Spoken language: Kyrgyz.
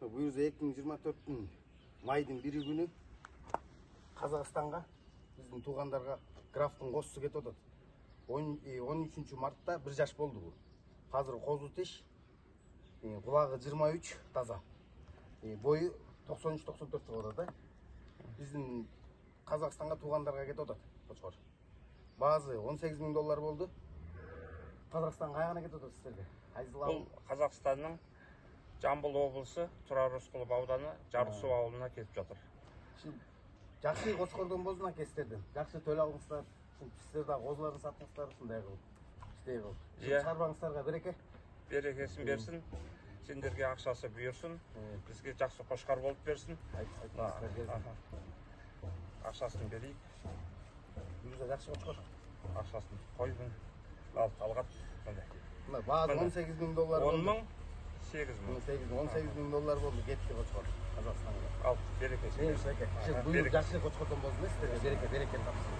Буюрса 2024 майдын 1 күнү Казакстанга биздин туугандарга графтын козусу кетип атат. 13 мартта 1 жаш болду бул. Азыр козу тиш, кулагы 23 таза. Бою 93-94 болуп атат да. Биздин Казакстанга туугандарга кетип атат кочкор. Баазы $18,000 болду. Казакстан кайгана кетип атат сиздерге? Бул Казакстандын Жамбыл облусу, Турар Рыскулов ауданы, Жарык Суу ауылуна кетип жатыр. Жакшы кочкордон болсун аке сиздерден. Жакшы төлөп алыңыздар. Сиздер да козуларды сатыңыздар, ушундай кылып. Иштей кылып. Чарбаңыздарга береке. Берекесин берсин. Сендерге акчасы буйрсун. Бизге жакшы кошкар болуп берсин. Акчасын берейик. Буюрса жакшы кочкор. Акчасын койдун. Алгат. Мына баазы $18,000 болду. 18,000 болду кетти кочкор Казакстанга. Ал берекесин. Береке. Жакшы кочкордон болсун сиздерге береке тапсын.